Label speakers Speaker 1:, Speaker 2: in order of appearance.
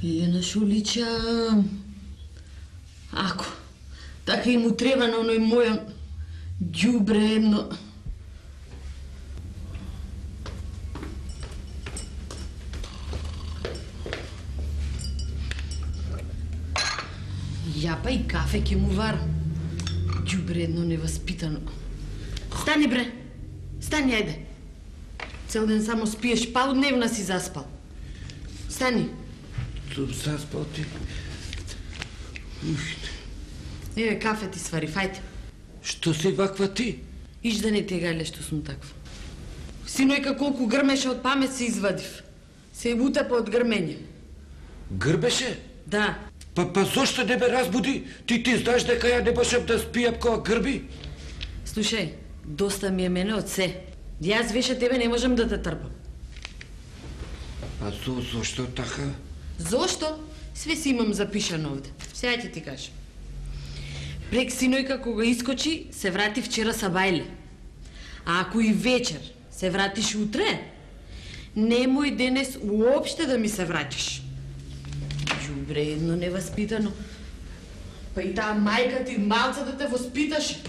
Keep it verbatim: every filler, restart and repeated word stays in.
Speaker 1: Лиljana Шулича, ако така и му треба на оној мој ѓубре едно. Јапа и кафе ќе му варам. Ѓубре едно неваспитано. Стани бре, стани, ајде. Цел ден само спиеш, полудневна си заспал. Стани.
Speaker 2: Сум заспал ти.
Speaker 1: Еве, кафе ти свари, фајте.
Speaker 2: Што си ваква ти?
Speaker 1: Иш да не те гајле што сум таква. Синојка колку грмеше од памет се извадив. Се утапа од грмење.
Speaker 2: Грбеше?
Speaker 1: Да.
Speaker 2: Па, па зошто не ме разбуди? Ти ти знаеш дека ја не можам да спијам кога грби?
Speaker 1: Слушај, доста ми е мене од се. Јас веше тебе не можам да те трпам.
Speaker 2: А зо, зошто така?
Speaker 1: Зошто? Све си имам запишано овде. Сега ќе ти кажам. Прек синојка кога искочи, се врати вчера са бајле. А ако и вечер се вратиш утре, немој денес уопште да ми се враќаш. Ѓубре едно неваспитано. Па и таа мајка ти малце да те воспиташе.